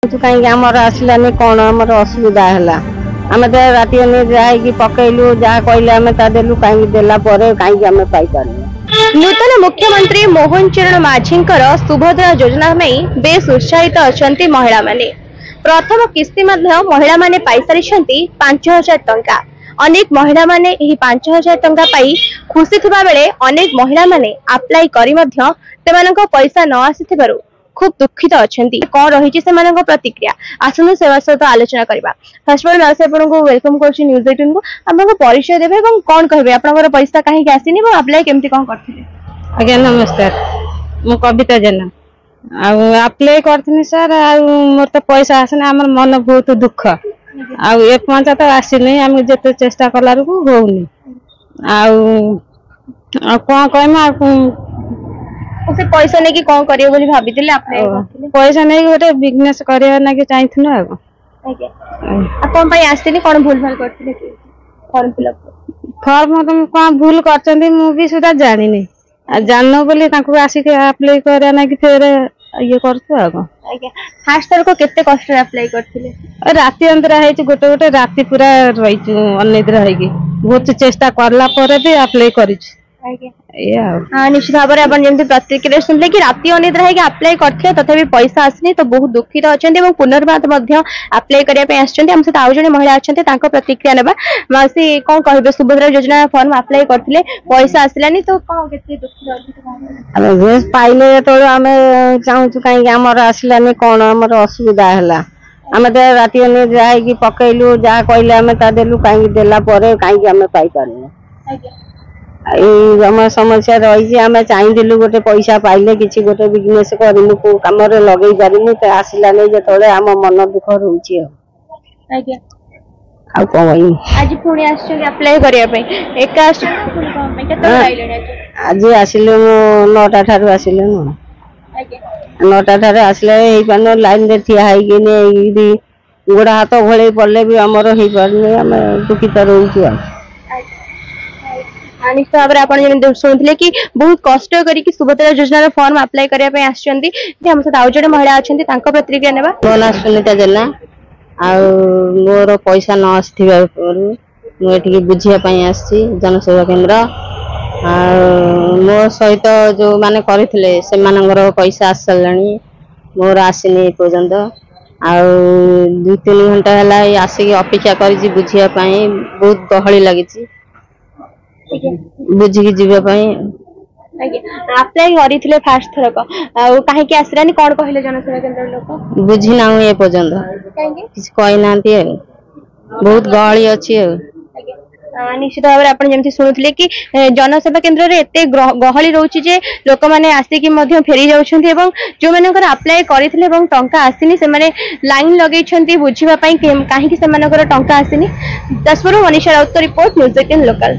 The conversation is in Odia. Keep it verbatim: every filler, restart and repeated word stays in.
କାହିଁକି ଆମର ଆସିଲାନି, କଣ ଆମର ଅସୁବିଧା ହେଲା? ଆମେ ତ ରାତି ଅନିଦ୍ରା ହେଇକି ପକେଇଲୁ, ଯାହା କହିଲେ ଆମେ ତା ଦେଲୁ। କାହିଁକି ଦେଲା ପରେ କାହିଁକି ଆମେ ପାଇପାରିଲୁ? ନୂତନ ମୁଖ୍ୟମନ୍ତ୍ରୀ ମୋହନ ଚରଣ ମାଝୀଙ୍କର ସୁଭଦ୍ରା ଯୋଜନା ପାଇଁ ବେଶ ଉତ୍ସାହିତ ଅଛନ୍ତି ମହିଳାମାନେ। ପ୍ରଥମ କିସ୍ତି ମଧ୍ୟ ମହିଳାମାନେ ପାଇସାରିଛନ୍ତି ପାଞ୍ଚ ହଜାର ଟଙ୍କା। ଅନେକ ମହିଳାମାନେ ଏହି ପାଞ୍ଚ ହଜାର ଟଙ୍କା ପାଇ ଖୁସି ଥିବା ବେଳେ ଅନେକ ମହିଳାମାନେ ଆପ୍ଲାଏ କରି ମଧ୍ୟ ସେମାନଙ୍କ ପଇସା ନ ଆସିଥିବାରୁ ଖୁବ ଦୁଃଖିତ ଅଛନ୍ତି। କଣ ରହିଛି ସେମାନଙ୍କ ପ୍ରତିକ୍ରିୟା, ଆସନ୍ତୁ ସେବା ସହିତ ଆଲୋଚନା କରିବା। ଫାର୍ଷ୍ଟ ଅଫ୍ ଅଲ୍ ମାଉସୀ, ଆପଣଙ୍କୁ welcome କରୁଛି ନ୍ୟୁଜ୍ ଏଇଟିନକୁ। ଆପଣଙ୍କ ପରିଚୟ ଦେବେ ଏବଂ କଣ କହିବେ, ଆପଣଙ୍କର ପଇସା କାହିଁକି ଆସିନି ଏବଂ ଆପ୍ଲାଏ କେମିତି କଣ କରିଥିଲେ? ଆଜ୍ଞା ନମସ୍କାର, ମୁଁ କବିତା ଜେନା। ଆଉ ଆପ୍ଲାଏ କରିଥିଲି ସାର୍, ଆଉ ମୋର ତ ପଇସା ଆସିନି। ଆମର ମନ ବହୁତ ଦୁଃଖ, ଆଉ ଏ ପର୍ଯ୍ୟନ୍ତ ତ ଆସିନି। ଆମେ ଯେତେ ଚେଷ୍ଟା କଲାବେଳକୁ ହଉନି। ଆଉ ଆଉ କଣ କହିମି? ଆଉ ସେ ପଇସା ନେଇକି କଣ କରିବେ ବୋଲି ଭାବିଥିଲେ ଆପ୍ଲାଏ କରିଥିଲେ? ପଇସା ନେଇକି ଗୋଟେ ବିଜନେସ କରିବା ନାଗି ଚାହିଁଥିଲୁ। ଆଉ ଆଜ୍ଞା, ଆଉ କଣ ପାଇଁ ଆସିନି? କଣ ଭୁଲ ଭାଲ କରିଥିଲେ କି ଫର୍ମ ଫିଲ୍ଅପ୍? ଫର୍ମ କଣ ଭୁଲ କରିଛନ୍ତି ମୁଁ ବି ସୁଦ୍ଧା ଜାଣିନି। ଆଉ ଜାଣିନୁ ବୋଲି ତାଙ୍କୁ ଆସିକି ଆପ୍ଲାଏ କରିବା ନାଗି ଫେରେ ଇଏ କରୁଛୁ, ଆଉ କଣ। ଆଜ୍ଞା, ଫାର୍ଷ୍ଟ ଥରକ କେତେ କଷ୍ଟରେ ଆପ୍ଲାଏ କରିଥିଲେ? ରାତି ଅନିଦ୍ରା ହେଇଛି, ଗୋଟେ ଗୋଟେ ରାତି ପୁରା ରହିଛୁ ଅନିଦ୍ରା ହେଇକି। ବହୁତ ଚେଷ୍ଟା କଲା ପରେ ବି ଆପ୍ଲାଏ କରିଛୁ। ଆଜ୍ଞା, ଏଇଆ। ଆଉ ନିଶ୍ଚିତ ଭାବରେ ଆପଣ ଯେମିତି ପ୍ରତିକ୍ରିୟା ଶୁଣିଲେ କି ରାତି ଅନିଦ୍ରା ହେଇକି ଆପ୍ଲାଏ କରିଥିଲେ, ତଥାପି ପଇସା ଆସିନି, ତ ବହୁତ ଦୁଃଖିତ ଅଛନ୍ତି ଏବଂ ପୁନର୍ବାର ମଧ୍ୟ ଆପ୍ଲାଏ କରିବା ପାଇଁ ଆସିଛନ୍ତି। ଆମ ସହିତ ଆଉ ଜଣେ ମହିଳା ଅଛନ୍ତି, ତାଙ୍କ ପ୍ରତିକ୍ରିୟା ନେବା। ମାଉସୀ, କଣ କହିବେ? ସୁଭଦ୍ରା ଯୋଜନା ଫର୍ମ ଆପ୍ଲାଏ କରିଥିଲେ, ପଇସା ଆସିଲାନି, ତ କଣ କେତେ ଦୁଃଖିତ ଅଛନ୍ତି? ଆମେ ପାଇଲେ ଯେତେବେଳେ ଆମେ ଚାହୁଁଛୁ କାହିଁକି ଆମର ଆସିଲାନି, କଣ ଆମର ଅସୁବିଧା ହେଲା? ଆମେ ତ ରାତି ଅନିଦ୍ରା ହେଇକି ପକେଇଲୁ, ଯାହା କହିଲେ ଆମେ ତା ଦେଲୁ। କାହିଁକି ଦେଲା ପରେ କାହିଁକି ଆମେ ପାଇପାରିଲୁ? ଏଇ ଆମ ସମସ୍ୟା ରହିଛି। ଆମେ ଚାହିଁଥିଲୁ ଗୋଟେ ପଇସା ପାଇଲେ କିଛି ଗୋଟେ ବିଜନେସ କରିମୁ, କୋଉ କାମରେ ଲଗେଇ ପାରିମୁ। ତ ଆସିଲାନି ଯେତେବେଳେ ଆମ ମନ ଦୁଃଖ ରହୁଛି। ଆଉ ଆଜ୍ଞା, ଆଉ କଣ କହିବି? ଆଜି ପୁଣି ଆସିଛନ୍ତି ଆପ୍ଲାଏ କରିବା ପାଇଁ, ଏକା ଆସିଛନ୍ତି ପୁଣି କଣ ପାଇଁ? କେତେବେଳେ ଆଇଲେଣି ଆଜି? ଆଜି ଆସିଲୁ ନଅଟା ଠାରୁ ଆସିଲୁଣୁ। ଆଜ୍ଞା, ନଅଟା ଠାରୁ ଆସିଲେ ହେଇପାରୁନି। ଲାଇନରେ ଠିଆ ହେଇକି ଏଇଠି ଗୋଡ ହାତ ଘୋଳେଇ ପଡିଲେ ବି ଆମର ହେଇପାରୁନି। ଆମେ ଦୁଃଖିତ ରହୁଛୁ। ଆଉ ନିଶ୍ଚିତ ଭାବରେ ଆପଣ ଯେମିତି ଶୁଣୁଥିଲେ କି ବହୁତ କଷ୍ଟ କରିକି ସୁଭଦ୍ରା ଯୋଜନାର ଫର୍ମ ଆପ୍ଲାଏ କରିବା ପାଇଁ ଆସିଛନ୍ତି। ଆମ ସହିତ ଆଉ ଜଣେ ମହିଳା ଅଛନ୍ତି, ତାଙ୍କ ପ୍ରତିକ୍ରିୟା ନେବା। ମୋ ନାଁ ସୁନିତା ଜେନା, ଆଉ ମୋର ପଇସା ନ ଆସିଥିବାରୁ ମୁଁ ଏଠିକି ବୁଝିବା ପାଇଁ ଆସିଛି ଜନସେବା କେନ୍ଦ୍ର। ଆଉ ମୋ ସହିତ ଯୋଉମାନେ କରିଥିଲେ ସେମାନଙ୍କର ପଇସା ଆସିସାରିଲାଣି, ମୋର ଆସିନି ଏ ପର୍ଯ୍ୟନ୍ତ। ଆଉ ଦୁଇ ତିନି ଘଣ୍ଟା ହେଲା ଏଇ ଆସିକି ଅପେକ୍ଷା କରିଛି ବୁଝିବା ପାଇଁ। ବହୁତ ଗହଳି ଲାଗିଛି ବୁଝିକି ଯିବା ପାଇଁ। ଆଜ୍ଞା, ଆପ୍ଲାଏ କରିଥିଲେ ଫାର୍ଷ୍ଟ ଥରକ, ଆଉ କାହିଁକି ଆସିଲାନି? କଣ କହିଲେ ଜନସେବା କେନ୍ଦ୍ର ଲୋକ? ବୁଝି ନାହୁଁ ଏ ପର୍ଯ୍ୟନ୍ତ, କିଛି କହିନାହାନ୍ତି। ଆଉ ବହୁତ ଗହଳି ଅଛି। ଆଉ ନିଶ୍ଚିତ ଭାବରେ ଆପଣ ଯେମିତି ଶୁଣୁଥିଲେ କି ଜନସେବା କେନ୍ଦ୍ରରେ ଏତେ ଗହଳି ରହୁଛି ଯେ ଲୋକମାନେ ଆସିକି ମଧ୍ୟ ଫେରି ଯାଉଛନ୍ତି, ଏବଂ ଯୋଉମାନଙ୍କର ଆପ୍ଲାଏ କରିଥିଲେ ଏବଂ ଟଙ୍କା ଆସିନି ସେମାନେ ଲାଇନ ଲଗେଇଛନ୍ତି ବୁଝିବା ପାଇଁ କାହିଁକି ସେମାନଙ୍କର ଟଙ୍କା ଆସିନି। ଯାଜପୁରରୁ ମନୀଷା ରାଉତଙ୍କ ରିପୋର୍ଟ, ନ୍ୟୁଜ୍ ଏଇଟିନ୍ ଲୋକାଲ।